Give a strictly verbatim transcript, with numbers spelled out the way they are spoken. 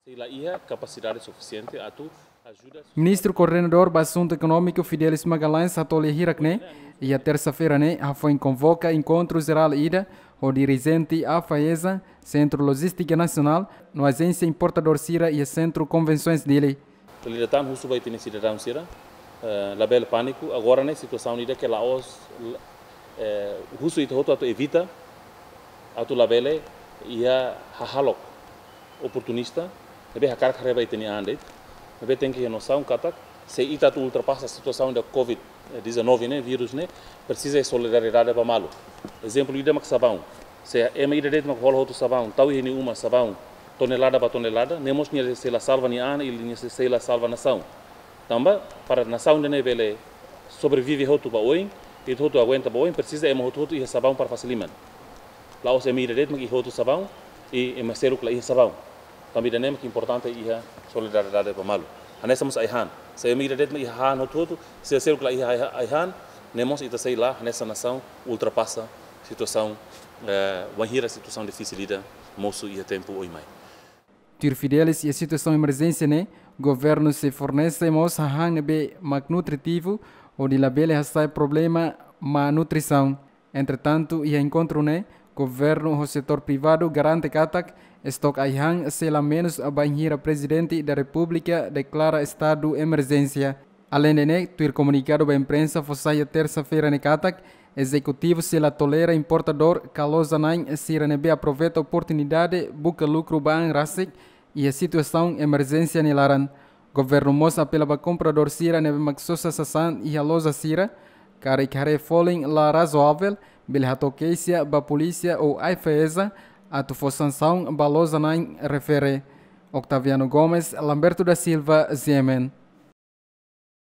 Sei la iha kapasidade sufisiente atu ajuda. Ministru Koordenadór ba Asuntu Ekonómiku Fidelis Magalhães hato'o lia hirak ne'e, iha tersa-feira ne'e hafoin konvoka enkontru jerál ida ho dirijente AFAESA, Sentru Lojístika Nasionál, no ajénsia importadór sira iha Sentru Konvensoens Dili. Lida tan husu ba ita-nia sidadaun sira, eh, labele pániku, agora ne'e situasaun ida ke la'ós, eh, husu ita hotu atu evita, atu labele iha hahalok oportunista, ne'ebé hakarak haree ba ita-nia an de'it, ne'ebé tenke iha nosaun katak, se ita atu ultrapasa situasaun ida covid dezanove ne'e, vírus ne'e, presiza solidariedade ba malu. Ezemplu ida mak sabaun. Se ema ida de'it mak hola hotu sabaun, tau iha nia uma sabaun, tonelada ba tonelada, ne'e mós nia sei la salva nia an, i nia sei, sei la salva nasaun. Tanba, para nasaun ida ne'e bele sobrevive hotu ba oin, i hotu aguenta ba oin, presiza ema hotu-hotu iha sabaun para fase liman. La'ós ema ida de'it mak iha hotu sabaun, i ema seluk la iha sabaun. Tanba ida-ne'e mak importante iha solidariedade ba malu. Hanesan mós ai-han. Se ema ida de'it mak iha han hotu-hotu, se seluk la iha ai-, ai-han, ne'e mós ita sei la, hanesan nasaun, ultrapasa situasaun, eh, wainhira situasaun difisil ida mosu iha tempu oin mai. Tuir Fidelis, iha situasaun emerjénsia ne'e, governu sei fornese mós hahán ne'ebé mak nutritivu, hodi labele hasa'e problema má nutrisaun. Entretantu, iha enkontru ne'e, governu ho setór privadu garante katak estok ai-han sei la menus bainhira Prezidente da Repúblika deklara estadu emerjénsia. Aleinde ne'e, tuir komunikadu ba imprensa fó sai iha tersa-feira ne'e katak, ezekutivu sei la tolera importadór ka loja-na'in sira ne'ebé aproveita oportunidade buka lukru ba an rasik iha situasaun emerjénsia nia laran. Governu mós apela ba kompradór sira ne'ebé mak sosa sasán iha loja sira, karik haree folin la razoavel, bele hato'o keixa ba polísia ou AFAESA atu fó sansaun ba loja-na'in refere. Octaviano Gomes, Lamberto da Silva, G M N.